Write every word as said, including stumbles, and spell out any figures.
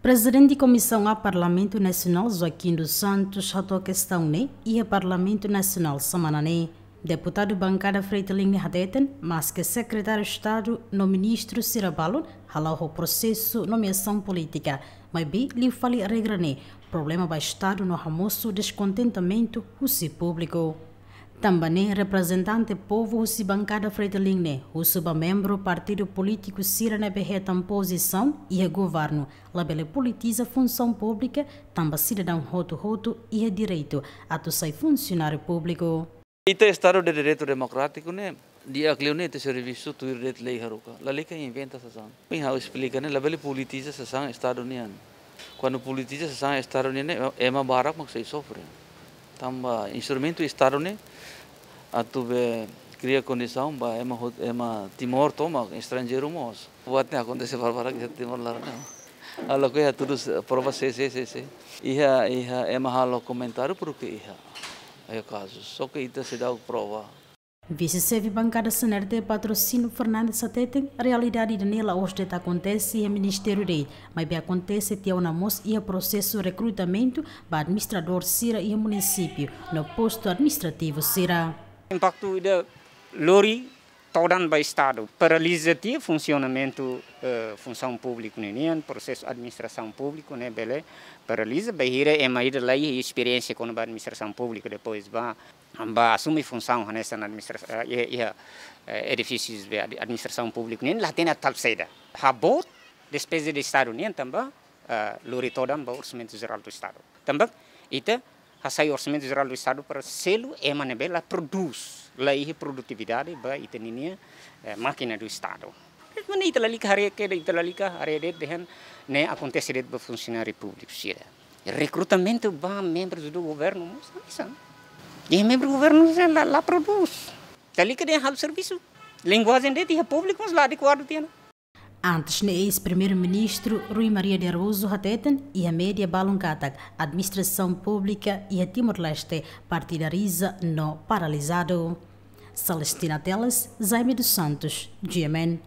Prezidente Komisaun A Parlamentu Nasionál Joaquim dos Santos hato'o kestaun ne'e iha Parlamentu Nasionál semana ne'e. Deputadu bankada Fretilin ne'e hateten, maske Sekretáriu Estadu no ministru sira balun hala'o ho prosesu nomeasaun polítika, maibé liu fali regra ne'e, problema ba Estadu no hamosu deskontentamentu husi públiku. Tanba ne'e reprezentante povu husi bankada Fretilin ne'e husu ba membru partidu polítiku sira ne'ebé hetan pozisaun iha governu, labele politiza funsaun públika, tanba sidadaun hotu-hotu iha direitu atu sai funsionáriu públiku. Ita Estadu de Direitu Demokrátiku ne'e, di'ak liu ne'e ita servisu tuir de'it lei haruka. Lalika inventa sasán. Ohin ha'u esplika ne'e, labele politiza sasán Estadu nian. Kuandu politiza sasán Estadu nian ne'e, ema barak mak sei sofre. Tanba instrumentu Estadu ne'e atu be kria kondisaun ba ema hot-, ema Timor tomak, estranjeiru mós. Buat ne'e akontese barbarak iha Timor laran ne'e. Halo ke iha tudu se-, prova se, se, se, se. Iha, iha ema halo komentáriu porke iha. Iha kazu. Só ke ita seidauk prova. Vise-xefe bankada C N R T Patrocínio Fernandes hateten, realidade ida-ne'e la'ós de'it akontese iha ministériu de'it, maibé akontese tiha ona mós iha prosesu rekrutamentu ba administradór sira iha munisípiu no postu administrativu sira. Impaktu ida lori todan ba Estadu, paraliza tiha funsionamentu, eh, funsaun públiku ninian, prosesu administrasaun públiku ne'e bele paraliza, bainhira ema ida la iha esperiénsia kona-ba administrasaun públiku, depois ba, ba asume funsaun hanesan administra-, eh, iha, iha, eh, edifísius be ad-, administrasaun públiku nian, la hatene atu halo saida. Haboot despeza de Estadu nian tanba, eh, lori todan ba Orsamentu Jerál do Estadu. Tanba ita hasai Orsamentu Jerál do Estadu para selu ema ne'ebé la prodús, la iha produtividade ba ita ninia, eh, mákina do Estadu. Maibé ita lalika haree kedas, ita lalika haree de'it dehan ne'e akontese de'it ba funsionáriu públiku sira. Rekrutamentu ba membros do governo mós hanesan. E membru governu sira la, la prodús. Lalika dehan halo servisu. Linguajen de'it iha públiku mós la adekuadu tiha ona. Antes ne'e eis-primeiru-ministru Rui Maria de Araújo hateten iha média balun katak administrasaun públika iha Timor-Leste partidariza no paralizadu. Celestina Teles, Jaime dos Santos, G M N.